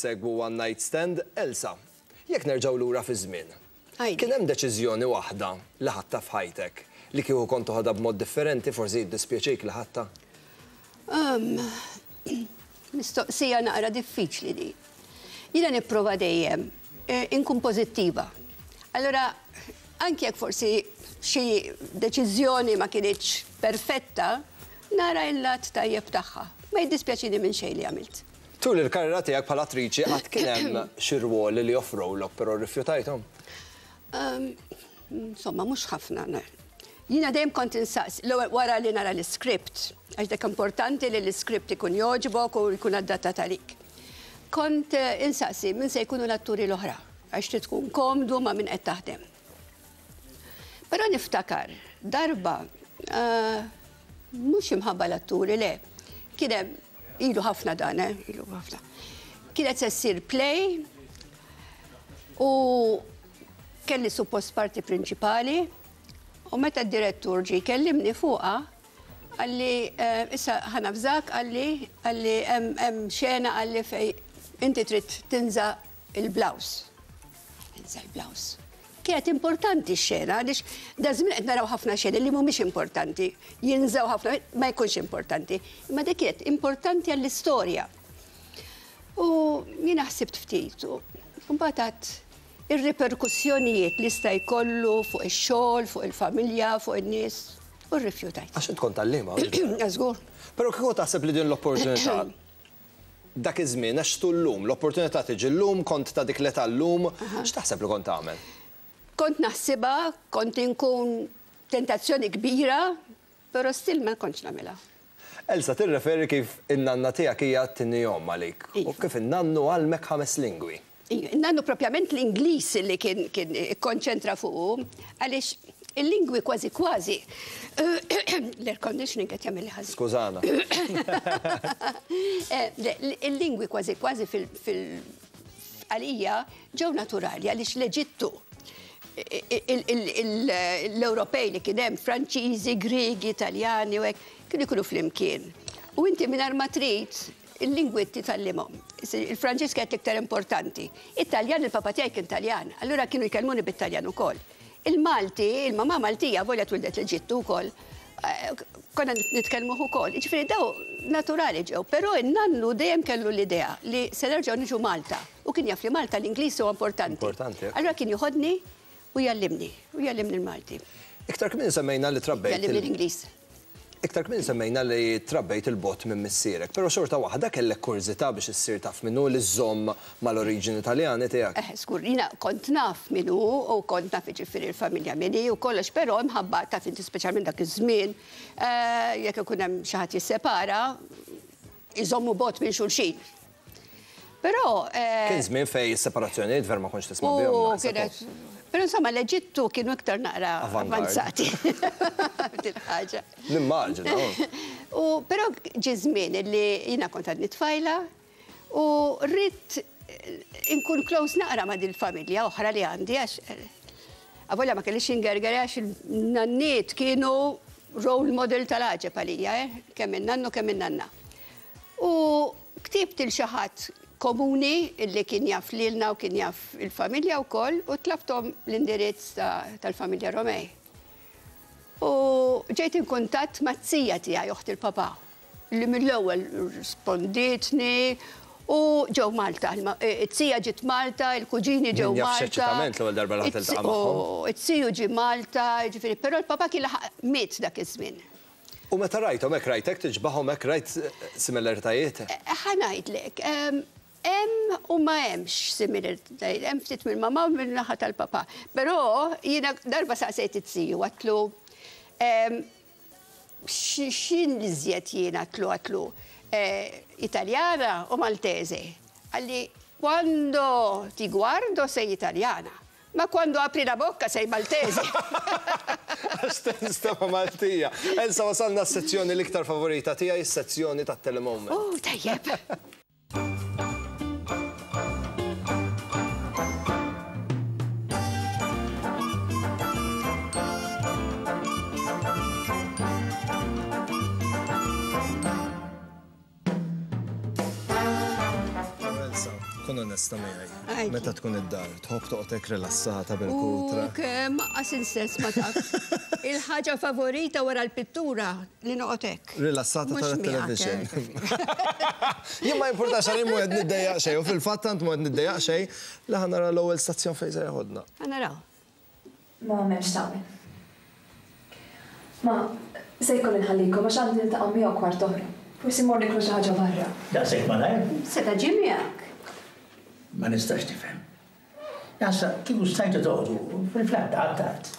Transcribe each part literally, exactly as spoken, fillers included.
Segwu One Night Stand, Elsa. Jekk nerġgħu lura fi żmien. Kien hemm deċiżjoni waħda li ħadtha f'ħajtek li kieku kont toħodha b'mod differenti forsi jiddispjaċik li ħadtha? Mistoqsija naqra diffiċli di. Jiena nipprova dejjem inkun pożittiva. Allora, anke jekk forsi xi deċiżjoni ma kinitx perfetta, nara il-lat tajjeb tagħha. Ma jiddispjaċini minn xejn li għamilt. Tul il-karriera tiegħek bħala attriċi qatt kien hemm xi rwoli li offrowlok però rrifjutajthom? Insomma, mhux ħafna. Jiena dejjem kont insaqs, l-ewwel wara li nara l-iskript, għax dak importanti li l-iskript ikun jogħġbok u jkun adattat għalik. Kont insaqsi min se jkunu l-atturi l-oħra, għax trid tkun komdu ma' min qed taħdem. Però niftakar, darba, mhux imħabba l-atturi, le, kien hemm ilu ħafna dan, eh, ilu ħafna. Kienet se ssir play u kelli suppost parti prinċipali u meta d-direttur ġie jkellimni fuqha qalli issa ħa nafżak qalli qalli hemm xena qalli fej inti trid tinża il-blouse. Tinża l-blouse. Kienet importanti x-xena għaliex da żmien qed naraw ħafna xeni li mhumiex importanti, jinżaw ħafna ma jkunx importanti. Imma dik kienet importanti għall-istorja. U jiena ħsibt ftit u mbagħad għadt ir-riperkussjonijiet li sta jkollu fuq ix-xogħol, fuq il-familja, fuq in-nies, u rrifjutajt. Għax int kont għalliema. Żgur. Però kieku taħseb li din l-opportunità dak iż-żmien għax llum, l-opportunità tiġi llum, kont ta' dik l-età llum, x'taħseb li kont tagħmel? Kont naħsibha, kont inkun tentazzjoni kbira, però still ma kontx nagħmilha. Elsa, tirreferi kif in-nanna tiegħek hija t-tieni omm għalik u kif in-nannu għallmek ħames lingwi. In-nannu propjament l-Ingliż li kien kien ikkonċentra fuqu, għaliex il-lingwi kważi kważi l-air conditioning qed jagħmel ħażin. Skużana. Il-lingwi kważi kważi fil għalija ġew naturali għaliex l-Eġittu l-Ewropej li kien hemm Franċiżi, Griegi, Italjani u hekk kienu jkunu flimkien. U inti mingħajr ma trid il-lingwi titgħallimhom. Il-Franċiż kienet l-iktar importanti. It-Taljan, il-papa tiegħi kien Taljan, allura kienu jkellmuni bit-Taljan ukoll. Il-Malti, il-mamà Maltija volja twildet l-Eġittu wkoll, konna nitkellmuh ukoll. Jiġifieri daw naturali ġew, però in-nannu dejjem kellu l-idea li se nerġgħu niġu Malta. U kien jaf li Malta l-Ingliż huwa importanti. Importanti. Allura kien joħodni u jgħallimni, u jgħallimni l-Malti. Iktar kmieni semmejna li trabbejt. Jgħallimni l-Ingliż. Iktar kmieni semmejna li trabbejt il-bot minn missierek, però xorta waħda kellek kurżità biex issir taf minnu li żżomm mal-oriġini Taljani tiegħek. Eh, skur, jiena kont naf minnu u kont naf jiġifieri l-familja minni u kollox, però mħabba taf inti speċjalment dak iż-żmien, jekk ikun hemm xi ħadd jissepara, iżommu bot minn xulxin. Però kien żmien fejn is-separazzjonijiet ver ma kontx tisma' bihom. Kienet. Però insomma l-Eġittu kienu iktar naqra avanzati. Din ħaġa. Nimmaġina. U però ġie żmien li jiena kont għadni tfajla u rrid inkun close naqra ma' dil-familja oħra li għandi għax avolja ma kellix ingerger għax il-nanniet kienu role model tal-għaġeb għalija, kemm in-nannu kemm in-nanna. U ktibt il xi ħadd komuni illi kien jaf lilna u kien jaf il-familja wkoll u tlabthom l-indirizz tal-familja Romej. U ġejt in kuntatt mat-tija tiegħi oħt il-papà li mill-ewwel rispondietni u ġew Malta. It-tija ġiet Malta, il-kuġini ġew Malta. Eċċitament l-ewwel darba li ħadd iltaqa' magħhom. It-tiju ġie Malta, jiġifieri, però l-papà kien laħaq miet dak iż-żmien. U meta rajthom hekk rajtek tiġbahom hekk rajt similaritajiet? Ħa ngħidlek, hemm u ma hemmx similaritajiet, hemm ftit mill-mamà u min-naħa tal-papà. Però jiena darba saqsejt it-tiju għatlu x'in li żjed jiena għatlu għatlu Italjana u Maltese. Qalli quando ti guardo sei italiana, ma quando apri la bocca sei maltese. Għax tinstema' Maltija. Elsa, wasalna s-sezzjoni l-iktar favorita tiegħi, is-sezzjoni tat-telemoment. Oh, tajjeb. Kun onesta miegħi. Meta tkun id-dar, tħobb toqgħodek rilassata bil-kutra. U kemm qas insess ma taf. Il-ħaġa favorita wara l-pittura li noqgħod hekk. Rilassata tara television. Jien ma jimpurtax għalli mhu qed niddejjaq xejn u fil-fatt tant mhu qed niddejjaq xejn li ħa nara l-ewwel stazzjon fejn se jeħodna. Ħa naraw. Ma m'hemmx tagħmel. Ma se jkolli nħallikom għax għandi niltaqa' miegħu kwart oħra. Forsi mmur niklu xi ħaġa barra. Daqshekk malajr? Seta' ġie miegħek. Ma nistax nifhem. Jasa, kieku stajtu toqgħodu fil-flat tard.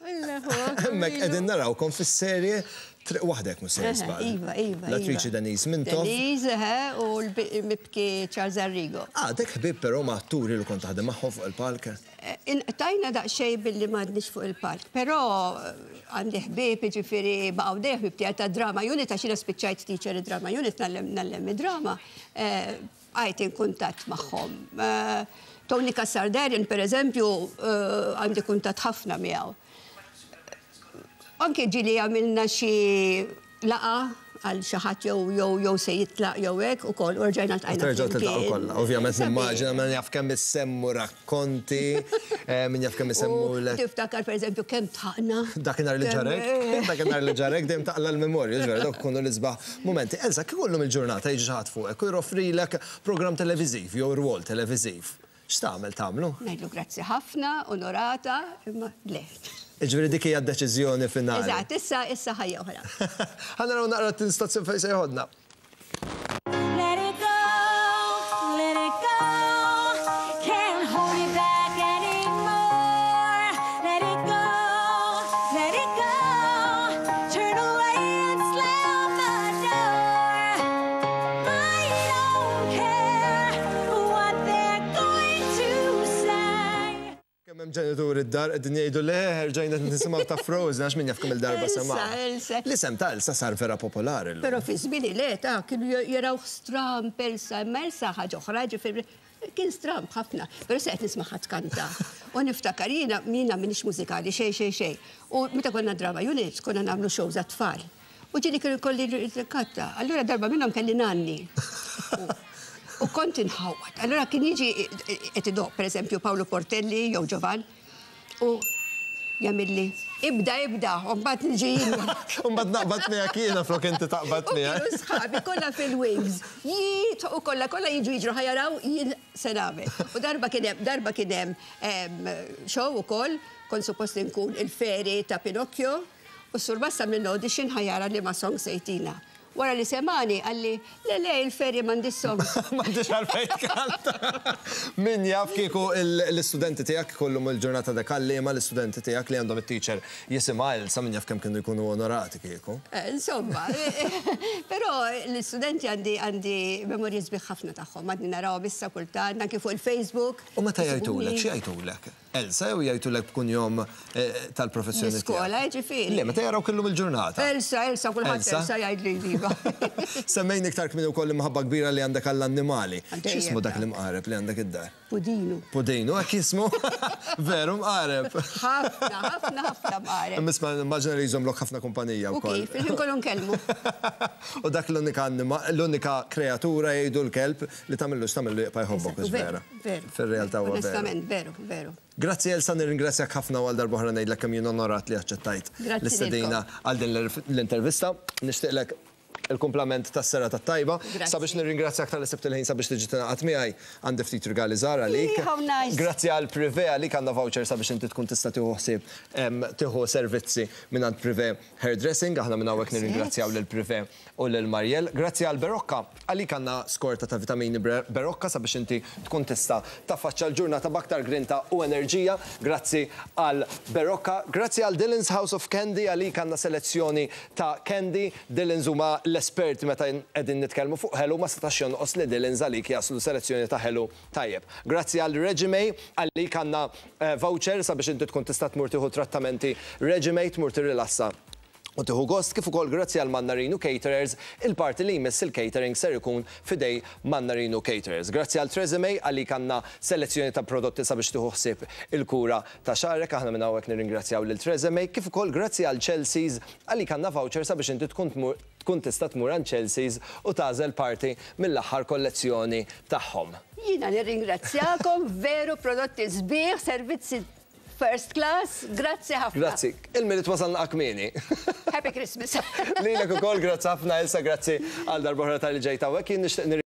Hemmhekk qegħdin narawkom fis-serje Triq Waħdek, mhux se żball. Iva, iva. L-attriċi Denise Mintoff. Denise, eh, u l-mibki Charles Arrigo. Ah, dek ħbib però ma' atturi li kont taħdem magħhom fuq il-palk. Inqtajna daqsxejn billi m'għadniex fuq il-palk, però għandi ħbieb, ġifieri baqgħu dejjem ħbieb tiegħi ta' drama unit, għax jiena spiċċajt teacher drama unit, ngħallem ngħallem id-drama, bqajt in kuntatt magħhom. Tony Cassar Darren, per eżempju, għandi kuntatt ħafna miegħu. Anke ġieli għamilna xi laqgħa għal xi ħadd jew jew jew se jitlaq jew hekk ukoll u rġajna ltqajna. Terġgħu tiltaqgħu kollha. Ovvjament nimmaġina min jaf kemm issemmu rakkonti, min jaf kemm isemmu. Tiftakar pereżempju kemm tħaqna. Dakinhar li ġarek, dakinhar li ġarek dejjem taqla' l-memorja, ġvera dawk ikunu l-isbaħ mumenti. Elsa, kieku llum il-ġurnata jiġi xi ħadd fuqek u joffrilek programm televiżiv jew rwol televiżiv. X'tagħmel tagħmlu? Ngħidlu grazzi ħafna, onorata, imma le. Ġifieri dik hija d-deċiżjoni finali. Eżatt, issa issa ħajja oħra. Ħa naraw naqra t-stazzjon fejn se jeħodna. Let it go, let it go, can't hold it back anymore. Let it go, let it go, turn away and slam the door. I don't care what they're going to say. Kemm hemm ġenituri d-dar qegħdin jgħidu le, rġajna nisimgħu ta' Frozen għax min jaf kemm il-darba Elsa, sema'. Elsa. L-isem ta' Elsa sar vera popolari llum. Però fi żmieni le ta' kienu jaraw stramp Elsa, imma Elsa ħaġa oħra, ġifieri kien stramp ħafna, però se qed nisma' ħadd kanta. U niftakar jiena jiena m'iniex mużikali xejn xejn xejn. U meta konna drama unit konna nagħmlu shows għat-tfal. U ġieli kienu jkolli katta. Allura darba minnhom kelli nanni. U kont inħawad. Allura kien jiġi qed idoq, pereżempju Paolo Portelli jew Giovan, u jagħmilli ibda ibda, u mbagħad niġi jien. U mbagħad naqbad miegħek jiena flok inti taqbad U miegħek. kienu sħabi kollha fil-wings. Jit u kollha kollha jiġu jiġru ħa jaraw jien se nagħmel. U darba kien hemm darba kien hemm show ukoll, kont suppost nkun il-fairy ta' Pinocchio, u s-surmast minn audition ħa jara liema song se jtina. Wara li semagħni qalli, le le, il-fairy m'għandhiex song. M'għandix għalfejn tkanta. Min jaf kieku l-istudenti tiegħek kollum il-ġurnata dak għalliema l-istudenti tiegħek li għandhom it-teacher jisimha Elsa, min jaf kemm kienu jkunu onorati kieku. Eh, Insomma, però l-istudenti għandi għandi memorji sbieħ ħafna tagħhom, għadni narawhom issa kultant, anke fuq il-Facebook. U meta jgħidulek, xi jgħidulek? Elsa jew jgħidulek b'kunjom eh, tal-professjoni tiegħek? L-iskola, ġifieri. Le, meta jaraw illum il-ġurnata. Elsa, Elsa, kulħadd Elsa? Elsa jgħidli iva. Semmejni iktar kmieni wkoll imħabba kbira li għandek għall-annimali. Għandej X'ismu dak dak. l-imqareb li għandek id-dar? Pudinu. Pudinu, hekk jismu? Veru mqareb. Ħafna, ħafna, ħafna mqareb. Imma immaġina li jżommlok ħafna kumpanija U wkoll. kif, il-ħin kollu nkellmu. U dak l-unika annima- l-unika kreatura jgħidu l-kelb li tagħmillu x'tagħmillu jibqa' jħobbok, Eżatt, vera. Veru. Fir-realtà huwa veru. Onestament, veru, veru. Grazzi Elsa, nirringrazzjak ħafna għal darb'oħra ngħidlek kemm jien onorat li aċċettajt Grazzi l-istedina għal din l-intervista. Nixtieqlek il-kumplament tas-serata tajba. Grazzi. Sabiex nirringrazzjak talli sibt il-ħin sabiex tiġi tingħaqad miegħi, għandi ftit rigali żgħar għalik. How nice. Grazzi għal Privé, għalik għandna voucher sabiex inti tkun tista' tieħu ħsieb em, tieħu servizzi minn Privé Hairdressing. Aħna minn hawnhekk nirringrazzjaw lil Privé u lil Mariel. Grazzi għal Berocca, għalik għandna skorta ta' vitamini Berocca sabiex inti tkun tista' taffaċċa l-ġurnata b'aktar grinta u enerġija. Grazzi għal Berocca. Grazzi għal Dylan's House of Candy, għalik għandna selezzjoni ta' candy. Dylan's huma l-esperti meta qegħdin nitkellmu fuq ħelu, ma setax jonqos li Dylan's għalik jaslu selezzjoni ta' ħelu tajjeb. Grazzi għal Regime, għalik għandna eh, voucher sabiex inti tkun tista' tmur tieħu trattamenti Regime, tmur tirrilassa u tieħu gost, kif ukoll grazzi għal Mannarino Caterers, il-parti li jmiss il-catering ser ikun f'idejn Mannarino Caterers. Grazzi għal Tresemme, għalik għandna selezzjoni ta' prodotti sabiex tieħu ħsieb il-kura ta' xagħrek. Aħna minn hawnhekk nirringrazzjaw lil Tresemme, kif ukoll grazzi għal Chelsea's, għalik għandna voucher sabiex inti tkun tmur tkun tista' tmur għand Chelsea's u tagħżel parti mill-aħħar kollezzjoni tagħhom. Jiena nirringrazzjakom, veru prodotti sbieħ, servizzi first class, grazzi ħafna. Grazzi. Il-Milied wasalna kmieni. Happy Christmas. Lilek ukoll, grazzi ħafna, Elsa, grazzi għal darb'oħra talli ġejt hawnhekk. Jien nixtieq